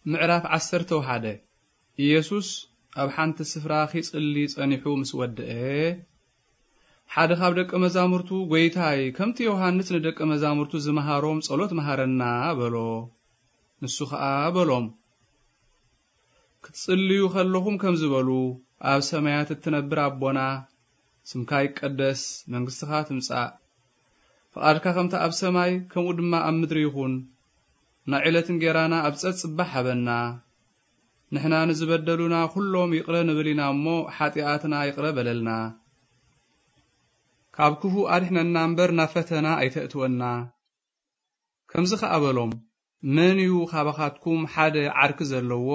ምዕራፍ ዓሰርተ ሓደ። ኢየሱስ ኣብ ሓንቲ ስፍራ ኺጽሊ ጸኒሑ ምስ ወድአ፣ ሓደ ካብ ደቀ መዛሙርቱ፣ "ጐይታይ፣ ከምቲ ዮሃንስ ንደቀ መዛሙርቱ ዝመሃሮም ጸሎት መሃረና" በሎ። ንሱ ኸኣ በሎም፣ "ክትጽልዩ ኸለኹም ከምዚ በሉ፣ ኣብ ሰማያት እትነብር ኣቦና፣ ስምካ ይቀደስ፣ መንግስትኻ ትምጻእ፣ ፍቓድካ ከምቲ ኣብ ሰማይ፣ ከምኡ ድማ ኣብ ምድሪ ይኹን። ናይ ዕለት እንጌራና ኣብ ጸጽ ጽባሕ ሃበና። ንሕና ንዝበደሉና ኩሎም ይቕረ ንብል ኢና እሞ፣ ሓጢኣትና ይቕረ በለልና። ካብ ክፉእ ኣድሕነና እምበር፣ ናብ ፈተና ኣይተእትወና።" ከምዚ ኸኣ በሎም፣ "መን እዩ ካባኻትኩም ሓደ ዓርኪ ዘለዎ?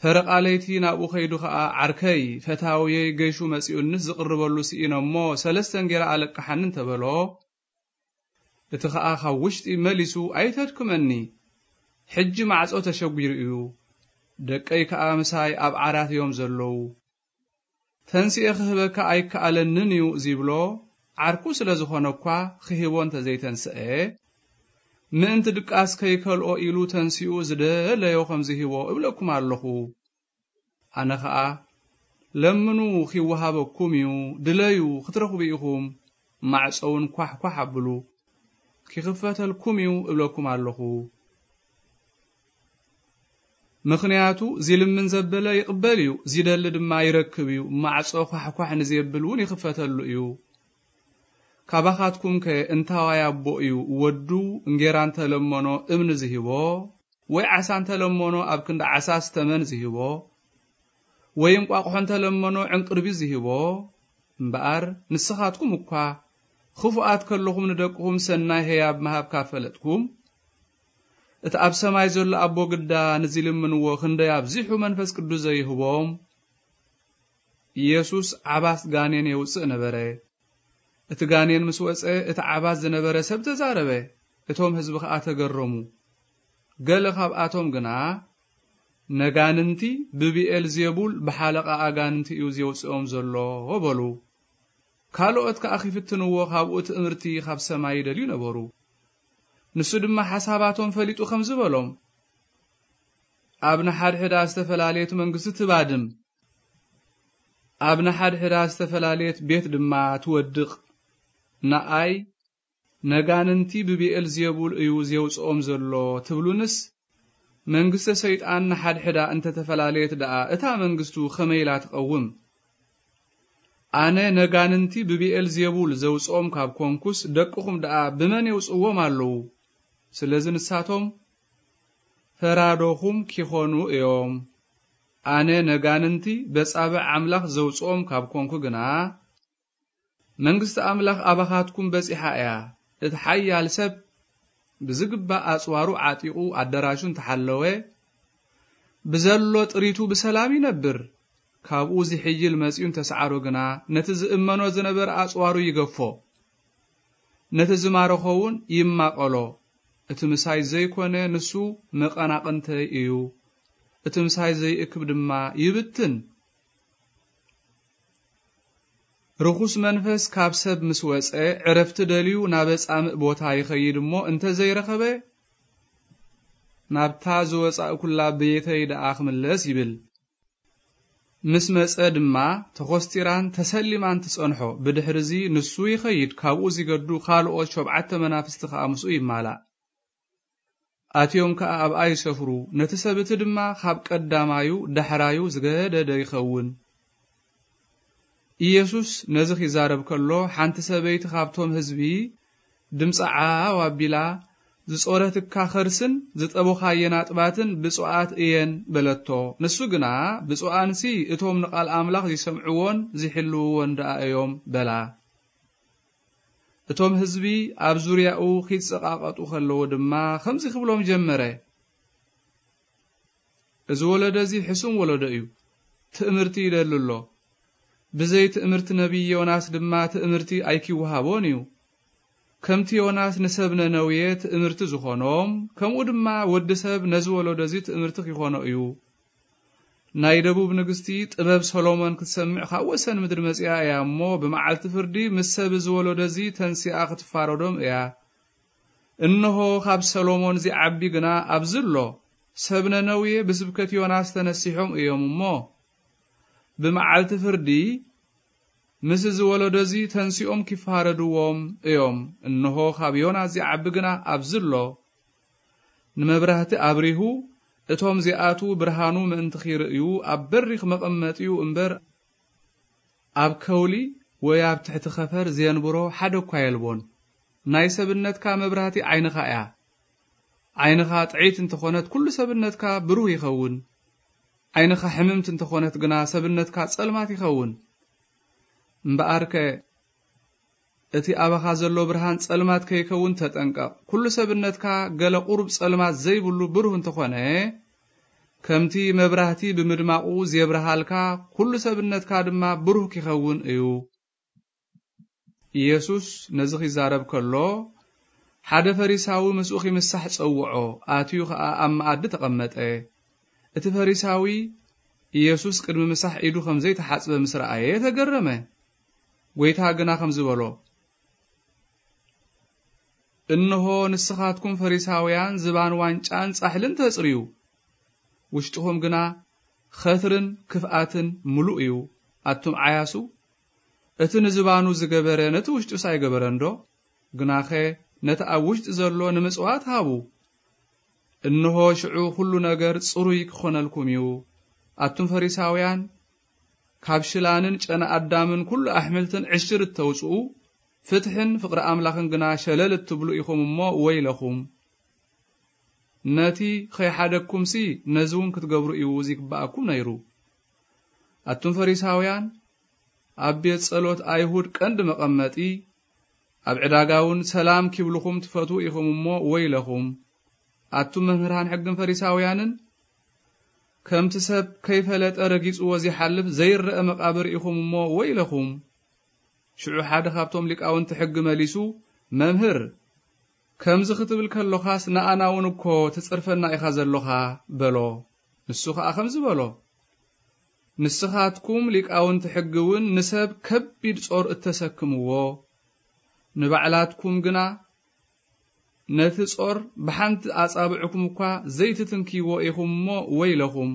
ፈረቓ ለይቲ ናብኡ ኸይዱ ኸኣ፣ 'ዓርከይ፣ ፈታውየይ ገይሹ መጺኡንስ ዝቕርበሉ ስኢነ እሞ፣ ሰለስተ እንጌራ ኣለቅሓኒ' እንተበሎ፣ እቲ ኸኣ ካብ ውሽጢ መሊሱ፣ 'ኣይተድክመኒ፣ ሕጂ ማዕጾ ተሸጒሩ እዩ፣ ደቀይ ከኣ ምሳይ ኣብ ዓራት እዮም ዘለዉ፣ ተንሲኤ ክህበካ ኣይከኣለንን እዩ' ዚብሎ፣ ዓርኩ ስለ ዝኾነ እኳ ክህቦ እንተ ዘይተንስአ፣ ምእንቲ ድቃስ ከይከልኦ ኢሉ ተንሲኡ ዝደለዮ ከም ዝህቦ እብለኩም ኣለኹ። ኣነ ኸኣ፣ ለምኑ ኺወሃበኩም እዩ፣ ድለዩ ኽትረኽቡ ኢኹም፣ ማዕጾ እውን ኳሕኳሕ ኣብሉ፣ ኪኽፈተልኩም እዩ እብለኩም ኣለኹ። ምኽንያቱ ዚልምን ዘበለ ይቕበል እዩ፣ ዚደሊ ድማ ይረክብ እዩ፣ ማዕጾ ኳሕኳሕ ንዜብል እውን ይኽፈተሉ እዩ። ካባኻትኩምከ እንታዋይ ኣቦ እዩ፣ ወዱ እንጌራ እንተ ለመኖ እምኒ ዝህቦ? ወይ ዓሳ እንተ ለመኖ ኣብ ክንዲ ዓሳስ ተመን ዝህቦ? ወይ እንቋቑሖ እንተ ለመኖ ዕንቅርቢት ዝህቦ? እምበኣር ንስኻትኩም እኳ ኽፉኣት ከለኹም ንደቅኹም ሰናይ ህያብ ምሃብ ካብ ፈለጥኩም፣ እቲ ኣብ ሰማይ ዘሎ ኣቦ ግዳ ንዚልምንዎ ክንደይ ኣብዚሑ መንፈስ ቅዱስ ዘይህቦም? ኢየሱስ ዓባስ ጋኔን የውጽእ ነበረ። እቲ ጋኔን ምስ ወጸ፣ እቲ ዓባስ ዝነበረ ሰብ ተዛረበ፣ እቶም ህዝቢ ኸኣ ተገረሙ። ገለ ካብኣቶም ግና፣ "ነጋንንቲ ብብኤል ዜቡል ብሓለቓ ኣጋንንቲ እዩ ዜውጽኦም ዘሎ" በሉ። ካልኦት ከኣ ኺፍትንዎ ካብኡ ትእምርቲ ኻብ ሰማይ ይደልዩ ነበሩ። ንሱ ድማ ሓሳባቶም ፈሊጡ ኸምዚ በሎም፣ "ኣብ ንሓድሕዳ ዝተፈላለየት መንግስቲ ትባድም፣ ኣብ ንሓድሕዳ ዝተፈላለየት ቤት ድማ ትወድቕ። ንኣይ ነጋንንቲ ብብኤል ዜቡል እዩ ዜውጽኦም ዘሎ ትብሉንስ፣ መንግስተ ሰይጣን ንሓድሕዳ እንተ ተፈላለየት ደኣ እታ መንግስቱ ኸመይ ኢላ ትቐውም? ኣነ ነጋንንቲ ብብኤል ዜቡል ዘውጽኦም ካብ ኮንኩስ፣ ደቅኹም ደኣ ብመን የውጽዎም ኣለዉ? ስለዚ ንሳቶም ፈራዶኹም ኪኾኑ እዮም። ኣነ ነጋንንቲ በጻብዕ ኣምላኽ ዘውጽኦም ካብ ኮንኩ ግና፣ መንግስቲ ኣምላኽ ኣባኻትኩም በጺሓ እያ። እቲ ሓያል ሰብ ብዝግባእ ኣጽዋሩ ዓጢቑ ኣደራሹ እንተሓለወ፣ ብዘሎ ጥሪቱ ብሰላም ይነብር። ካብኡ ዝሕይል መጺኡ እንተሰዓሮ ግና፣ ነቲ ዝእመኖ ዝነበረ ኣጽዋሩ ይገፎ፣ ነቲ ዝማረኾ እውን ይማቐሎ። እቲ ምሳይ ዘይኮነ ንሱ መቐናቕንተይ እዩ፣ እቲ ምሳይ ዘይእክብ ድማ ይብትን። ርኹስ መንፈስ ካብ ሰብ ምስ ወጸ፣ ዕረፍቲ ደልዩ ናብ ጻምእ ቦታ ይኸይድ እሞ፣ እንተ ዘይረኸበ፣ ናብታ ዝወጻእኩላ ቤተይ ደኣ ክምለስ ይብል። ምስ መጸ ድማ፣ ተኾስቲራን ተሰሊማን ትጸንሖ። ብድሕርዚ ንሱ ይኸይድ፣ ካብኡ ዚገዱ ካልኦት ሸብዓተ መናፍስቲ ኸኣ ምስኡ ይማላእ። ኣትዮም ከኣ ኣብኣ ይሰፍሩ። ነቲ ሰብ እቲ ድማ ካብ ቀዳማዩ ዳሕራዩ ዝገደደ ይኸውን። ኢየሱስ ነዚ ኺዛረብ ከሎ፣ ሓንቲ ሰበይቲ ኻብቶም ህዝቢ ድምጻ ዓው ኣቢላ፣ "ዝጾረትካ ኸርስን ዝጠቦኻየን ኣጥባትን ብፁዓት እየን" በለቶ። ንሱ ግና፣ "ብፁዓንሲ እቶም ንቓል ኣምላኽ ዚሰምዕዎን ዚሕልውዎን ደኣ እዮም" በላ። እቶም ህዝቢ ኣብ ዙርያኡ ኺጸቓቐጡ ኸለዉ ድማ፣ ኸምዚ ኽብሎም ጀመረ፣ "እዚ ወለዶ እዚ ሕሱም ወለዶ እዩ፣ ትእምርቲ ይደሊ ኣሎ። ብዘይ ትእምርቲ ነቢይ ዮናስ ድማ ትእምርቲ ኣይኪወሃቦን እዩ። ከምቲ ዮናስ ንሰብ ነነውየ ትእምርቲ ዝኾኖም፣ ከምኡ ድማ ወዲ ሰብ ነዚ ወለዶ እዚ ትእምርቲ ኪኾኖ እዩ። ናይ ደቡብ ንግስቲ ጥበብ ሰሎሞን ክትሰምዕ ካብ ወሰን ምድሪ መጺኣ እያ እሞ፣ ብመዓልቲ ፍርዲ ምስ ሰብ እዚ ወለዶ እዚ ተንሲኣ ክትፋረዶም እያ። እንሆ፣ ካብ ሰሎሞን ዚዓቢ ግና ኣብዚ ኣሎ። ሰብ ነነዌ ብስብከት ዮናስ ተነሲሖም እዮም እሞ፣ ብመዓልቲ ፍርዲ ምስ እዚ ወለዶ እዚ ተንሲኦም ኪፋረድዎም እዮም። እንሆ፣ ካብ ዮናስ ዚዓቢ ግና ኣብዚ ኣሎ። ንመብራህቲ ኣብሪሁ፣ እቶም ዚኣትዉ ብርሃኑ ምእንቲ ኺርእዩ፣ ኣብ በሪኽ መቐመጢኡ እምበር፣ ኣብ ከውሊ ወይ ኣብ ትሕቲ ኸፈር ዜንብሮ ሓደ እኳ የልቦን። ናይ ሰብነትካ መብራህቲ ዓይንኻ እያ። ዓይንኻ ጥዕይቲ እንተኾነት፣ ኩሉ ሰብነትካ ብሩህ ይኸውን። ዓይንኻ ሕምምቲ እንተኾነት ግና፣ ሰብነትካ ጸልማት ይኸውን። እምበኣርከ፣ እቲ ኣባኻ ዘሎ ብርሃን ጸልማት ከይከውን ተጠንቀቕ። ኩሉ ሰብነትካ ገለ ቁሩብ ጸልማት ዘይብሉ ብሩህ እንተኾነ፣ ከምቲ መብራህቲ ብምድማቑ ዜብርሃልካ፣ ኩሉ ሰብነትካ ድማ ብሩህ ኪኸውን እዩ። ኢየሱስ ነዚ ኺዛረብ ከሎ፣ ሓደ ፈሪሳዊ ምስኡ ኺምሳሕ ጸውዖ፣ ኣትዩ ኸኣ ኣብ መኣዲ ተቐመጠ። እቲ ፈሪሳዊ፣ ኢየሱስ ቅድሚ ምሳሕ ኢዱ ኸም ዘይተሓጽበ ምስ ረኣየ ተገረመ። ጐይታ ግና ኸምዚ በሎ፣ እንሆ፣ ንስኻትኩም ፈሪሳውያን ዝባን ዋንጫን ጻሕልን ተጽርዩ፣ ውሽጥኹም ግና ኸትርን ክፍኣትን ምሉእ እዩ። ኣቱም ዓያሱ፣ እቲ ንዝባኑ ዝገበረ ነቲ ውሽጡስ ኣይገበረንዶ? ግናኸ ነቲ ኣብ ውሽጢ ዘሎ ንምጽዋት ሃቡ። እንሆ፣ ሽዑ ኹሉ ነገር ጽሩይ ክኾነልኩም እዩ። ኣቱም ፈሪሳውያን፣ ካብ ሽላንን ጨና ኣዳምን ኩሉ ኣሕምልትን ዕሽር እተውጽኡ፣ ፍትሕን ፍቕሪ ኣምላኽን ግና ሸለል እትብሉ ኢኹም እሞ ወይለኹም። ነቲ ኸይሓደግኩምሲ ነዚ እውን ክትገብሩ እዩ ዚግብኣኩም ነይሩ። ኣቱም ፈሪሳውያን፣ ኣብ ቤት ጸሎት ኣይሁድ ቀንዲ መቐመጢ፣ ኣብ ዕዳጋ እውን ሰላም ኪብልኹም ትፈትዉ ኢኹም እሞ ወይለኹም። ኣቱም መምህራን ሕግን ፈሪሳውያንን፣ ከምቲ ሰብ ከይፈለጠ ረጊጽዎ ዚሓልፍ ዘይረአ መቓብር ኢኹም እሞ ወይለኹም። ሽዑ ሓደ ካብቶም ሊቃውንቲ ሕጊ መሊሱ፣ መምህር፣ ከምዚ ክትብል ከሎኻስ ንኣና እውን እኮ ትጽርፈና ኢኻ ዘሎኻ በሎ። ንሱ ኸኣ ከምዚ በሎ፣ ንስኻትኩም ሊቃውንቲ ሕጊ እውን ንሰብ ከቢድ ጾር እተሰክምዎ፣ ንባዕላትኩም ግና ነቲ ጾር ብሓንቲ ኣጻብዕኩም እኳ ዘይትትንክይዎ ኢኹም እሞ ወይለኹም።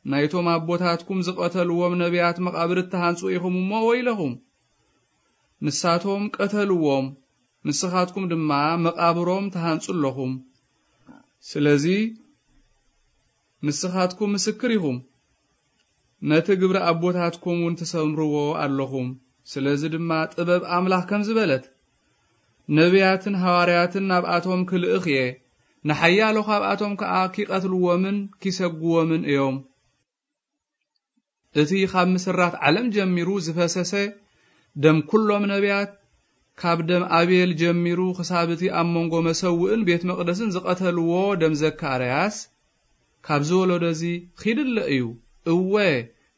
ናይቶም ኣቦታትኩም ዝቐተልዎም ነቢያት መቓብር እትሃንጹ ኢኹም እሞ ወይለኹም። ንሳቶም ቀተልዎም፣ ንስኻትኩም ድማ መቓብሮም ትሃንጹ ኣለኹም። ስለዚ ንስኻትኩም ምስክር ኢኹም፣ ነቲ ግብሪ ኣቦታትኩም እውን ትሰምርዎ ኣለኹም። ስለዚ ድማ ጥበብ ኣምላኽ ከምዚ በለት፣ ነቢያትን ሃዋርያትን ናብኣቶም ክልእኽ እየ፣ ንሓያሎ ካብኣቶም ከኣ ኪቐትልዎምን ኪሰግዎምን እዮም። እቲ ካብ ምስራት ዓለም ጀሚሩ ዝፈሰሰ ደም ኩሎም ነቢያት፣ ካብ ደም ኣቤል ጀሚሩ ክሳብ እቲ ኣብ መንጎ መሰውእን ቤት መቕደስን ዝቐተልዎ ደም ዘካርያስ፣ ካብዚ ወለዶ እዚ ኺድለ እዩ። እወ፣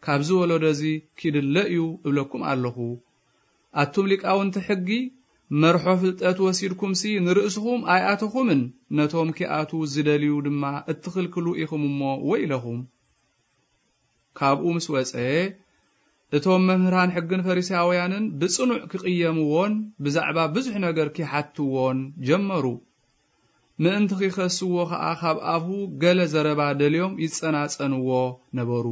ካብዚ ወለዶ እዚ ኪድለ እዩ እብለኩም ኣለኹ። ኣቱም ሊቃውንቲ ሕጊ፣ መርሖ ፍልጠት ወሲድኩምሲ ንርእስኹም ኣይኣተኹምን፣ ነቶም ኪኣትዉ ዝደልዩ ድማ እትኽልክሉ ኢኹም እሞ ወይለኹም። ካብኡ ምስ ወጸ፣ እቶም መምህራን ሕግን ፈሪሳውያንን ብጽኑዕ ክቕየምዎን ብዛዕባ ብዙሕ ነገር ኪሓትዎን ጀመሩ። ምእንቲ ኺኸስዎ ኸኣ ካብ ኣፉ ገለ ዘረባ ደልዮም ይጸናጸንዎ ነበሩ።